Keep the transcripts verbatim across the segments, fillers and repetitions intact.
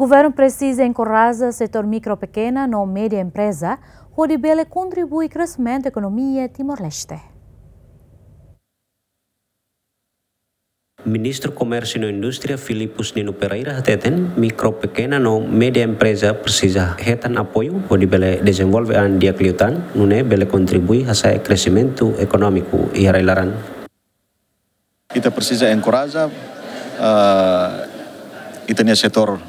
Governu presiza enkoraja setór mikro, pekena no média empreza, hodi bele kontribui kreximentu ekonomia Timor-Leste. Ministru Komérsiu no Indústria Filipus Nino Pereira hateten, mikro, pekena no média empreza presiza hetan apoiu hodi bele dezenvolve an di'ak liután, nune'e bele kontribui hasa'e kreximentu ekonómiku iha rai-laran. Ita presiza enkoraja, ah, ita-nia setór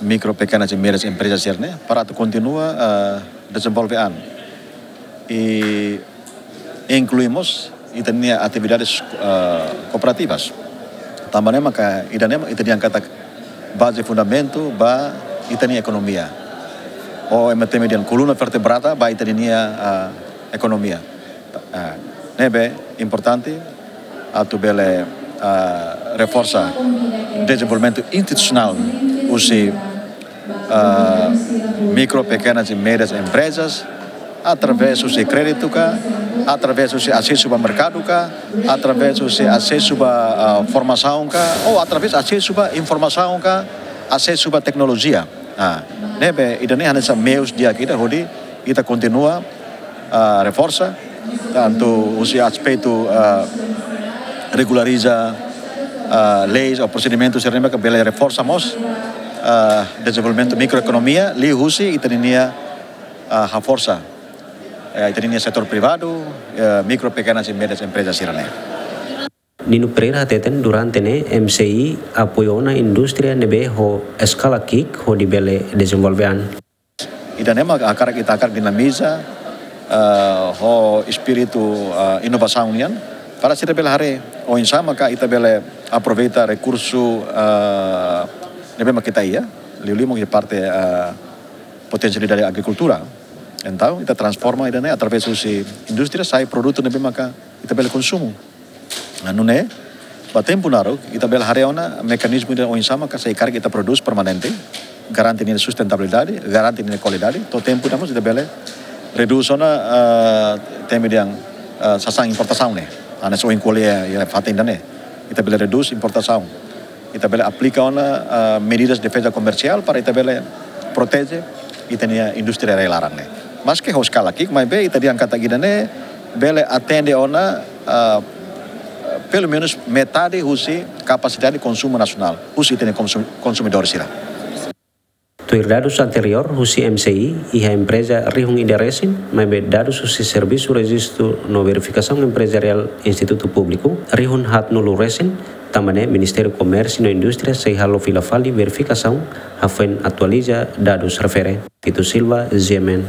mikro, pekenas e médias emprezas sira-ne'e para atu kontinua, ah, dezenvolve an. I inklui mós ita-nia atividades, ah, kooperativas. Tanba ne'e maka ida-ne'e mak ita dehan katak baze fundamentu ba ita-nia ekonomia. Ou ema temi dehan koluna vertebrada ba ita-nia, ah, ekonomia. Ah, ne'ebé importante atu bele, ah, reforsa dezenvolvimentu institusionál husi, ah, mikro, pekenas e médias emprezas, através husi kréditu ka, através husi asesu ba merkadu ka, através husi asesu ba, ah, formasaun ka, ou através asesu ba informasaun ka, asesu ba teknolojia. Ah, ne'ebé ida-ne'e hanesan meius di'ak ida hodi ita kontinua, ah, reforsa, tantu husi aspetu, ah, regulariza, ah, leis ou prosedimentus sira-ne'ebé ke bele reforsa mós, ah, dezenvolvimentu mikroekonomia, liuhusi ita-nia, ah, haforsa, eh, ita-nia setór privadu, eh, mikro, pekenas e médias emprezas sira-ne'e. Nino Pereira hateten durante ne'e M C I apoiu ona indústria ne'ebé ho eskala ki'ik hodi bele dezenvolve an. Ida-ne'e mak hakarak ita hakarak dinamiza, eh, ho espíritu, eh, inovasaun nian, para sira bele haree oinsá maka ita bele aproveita rekursu, eh, ne'ebé mak ita iha, liuliu mak iha parte, eh, potensialidade agrikultura. Entaun, ita transforma ida-ne'e através husi indústria sai produtu ne'ebé maka ita bele konsumu. Nah, nune'e, ba tempu naruk, ita bele haree ona mekanizmu ida oinsá maka se karik ita prodús permanente, garante nia sustentabilidade, garante nia kualidade, to'o tempu ida mós ita bele redús ona, eh, temi dehan, eh, sasán importasaun ne'e. Hanesan ohin ko'alia iha fatin ida-ne'e. Ita bele redús importasaun. Ita bele aplika ona, eh, medidas defeza komersiál para ita bele proteje ita-nia indústria rai-laran ne'e. Maske ho eskala ki'ik, maibé ita dehan katak ida-ne'e bele atende ona, eh, pelumenus metade husi kapasidade konsumu nasionál, husi ita-nia konsum-, konsumidór sira. Tuir dadus anteriór husi M C I, iha empreza rihun ida resin, maibé dadus husi Servisu Rejistu no Verifikasaun Emprezariál Institutu Públiku, rihun haatnulu resin, tanba ne'e Ministériu Komérsiu no Indústria sei halo fila fali verifikasaun, hafoin atualiza dadus refere. Tito Silva, G M N.